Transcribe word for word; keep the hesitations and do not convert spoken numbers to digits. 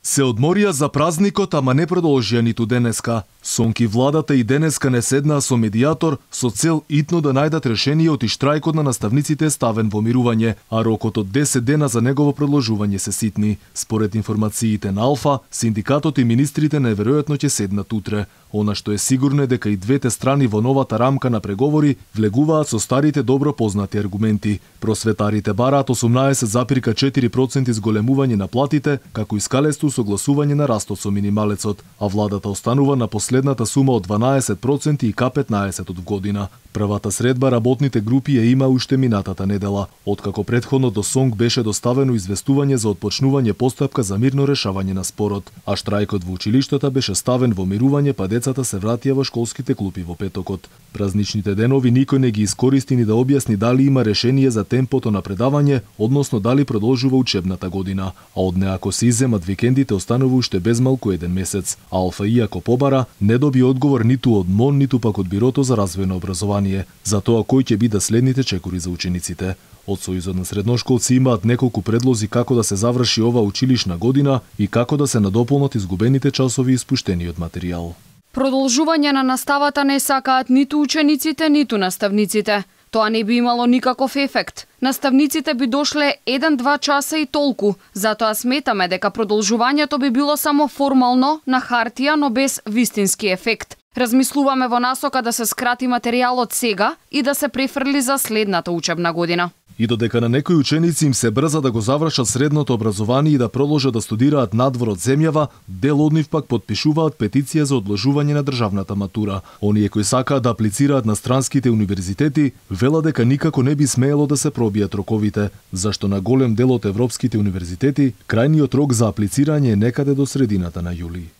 Се одморија за празникот, ама не продолжија ниту денеска. Сонки владата и денеска не седнаа со медијатор со цел итно да најдат решение од штрајкот на наставниците ставен во мирување, а рокот од десет дена за негово продолжување се ситни. Според информациите на Алфа, синдикатот и министрите најверојатно ќе седнат утре. Она што е сигурно е дека и двете страни во новата рамка на преговори влегуваат со старите добро познати аргументи. Просветарите бараат осумнаесет запирка четири проценти зголемување на платите, како и скалесто согласување на растот со минималецот, а владата останува на последната сума од дванаесет проценти и ка петнаесет од година. Првата средба работните групи ја има уште минатата недела, откако претходно до СОНК беше доставено известување за отпочнување постапка за мирно решавање на спорот, а штрајкот во училиштата беше ставен во мирување, па децата се вратија во школските клупи во петокот. Празничните денови никој не ги искористи ни да објасни дали има решение за темпото на предавање, односно дали продолжува учебната година, а од неа ако се иземат викендите останува уште безмалку еден месец. Алфа, иако побара, не доби одговор ниту од МОН, ниту пак од Бирото за развој на образование, за тоа кои ќе бидат следните чекори за учениците. Од Сојузот на средношколци имаат неколку предлози како да се заврши ова училишна година и како да се надополнат изгубените часови испуштени од материјал. Продолжување на наставата не сакаат ниту учениците, ниту наставниците. Тоа не би имало никаков ефект. Наставниците би дошле еден-два часа и толку. Затоа сметаме дека продолжувањето би било само формално, на хартија, но без вистински ефект. Размислуваме во насока да се скрати материјалот сега и да се префрли за следната учебна година. И додека на некои ученици им се брза да го завршат средното образование и да продолжат да студираат надвор од земјава, дел од нив пак подпишуваат петиција за одложување на државната матура. Оние кои сакаат да аплицираат на странските универзитети, велат дека никако не би смеело да се пробијат роковите, зашто на голем дел од европските универзитети крајниот рок за аплицирање е некаде до средината на јули.